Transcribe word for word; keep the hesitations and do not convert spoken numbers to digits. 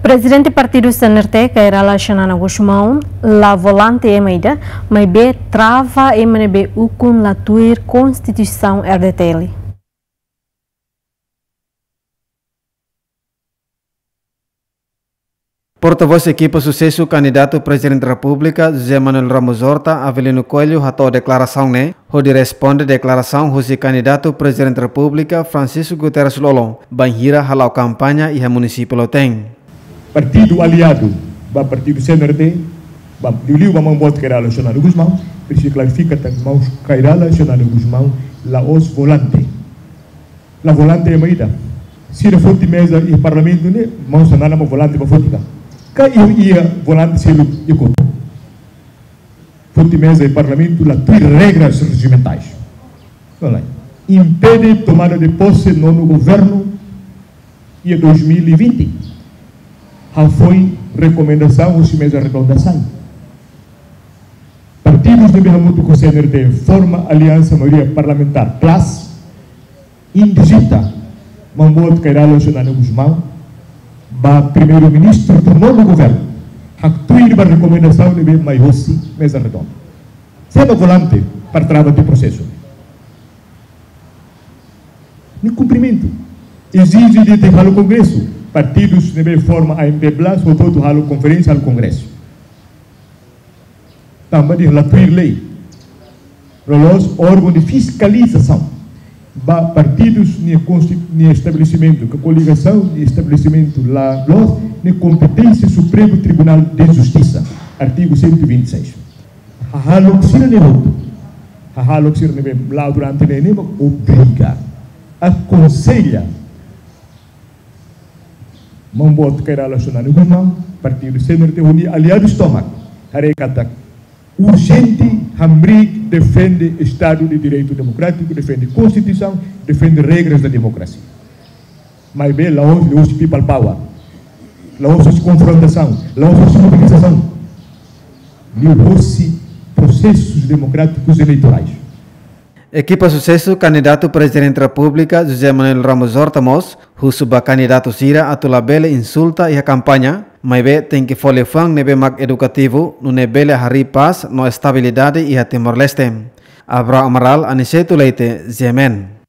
Prezidente partidu C N R T, Kay Rala Xanana Gusmão, la volante ema ida, maibé trava ema ne'ebé ukun la tuir Konstituisaun R D T L. Portavós ekipa susesu kandidatu Prezidente Repúblika, José Manuel Ramos Horta, Avelino Coelho, hato'o deklarasaun ne'e, hodi responde deklarasaun husi kandidatu Prezidente Repúblika, Francisco Guterres Lú-Olo, bainhira hala'o kampaña iha munisípiu Lautém. Partidu aliadu ba partidu C N R T, ba, liuliu ba maun boot Kay Rala Xanana Gusmão, presiza klarifika katak maun Kay Rala Xanana Gusmão la'ós volante. La volante ema ida. Sira foti meza iha parlamentu ne'e, maun Xanana mak volante ba foti ka. Ka iha, iha volante seluk ikut. Foti meza iha parlamentu la tuir regras rejimentais. Olha, impede tomada de posse nono governo iha dois mil e vinte. Hafoin rekomendasaun husi meza redonda sai. Partidus ne'ebé hamutuk ho C N R T forma aliansa maioria parlamentár plus indijita maun boot Kay Rala Xanana Gusmão ba primeiru-ministru ba nono governu, haktuir ba rekomendasaun ne'ebé mai hosi meza redonda. Sé mak volante para trava tiha prosesu? Nia kumprimentu. Ezije de'it halo kongresu. Partidus ne'ebé forma A M P plus, hotu-hotu halo konferénsia, halo kongresu. Tanba dehan la tuir lei. Loloos órgaun de fiskalizasaun ba partidus nia konsti-, nia estabelesimentu, ka koligasaun nia estabelesimentu la loos, nia kompeténsia Supremu Tribunál de Justisa, artigu cento e vinte e seis. Hahalok sira-ne'e hotu. Hahalok sira ne'ebé la'o durante ne'e, ne'e mak obriga, akonsella maun boot Kay Rala Xanana Gusmão, partidu C N R T ho nia aliadus tomak, haree katak urjente hamriik defende Estadu de Direitu Demokrátiku, defende Konstituisaun, defende regras da democracia. Maibé la'ós liuhusi people power, la'ós husi konfrontasaun, la'ós husi mobilizasaun, liuhusi prosesus demokrátikus eleitorais. Ekipa susesu kandidatu Prezidente Repúblika, José Manuel Ramos Horta mós husu ba kandidatu sira atu labele insulta iha kampaña, maibé tenke fó liafuan ne'ebé mak edukativu, nune'e bele harii pás no estabilidade iha Timor-Leste. Abrão Amaral, Aniceto Leite, G M N.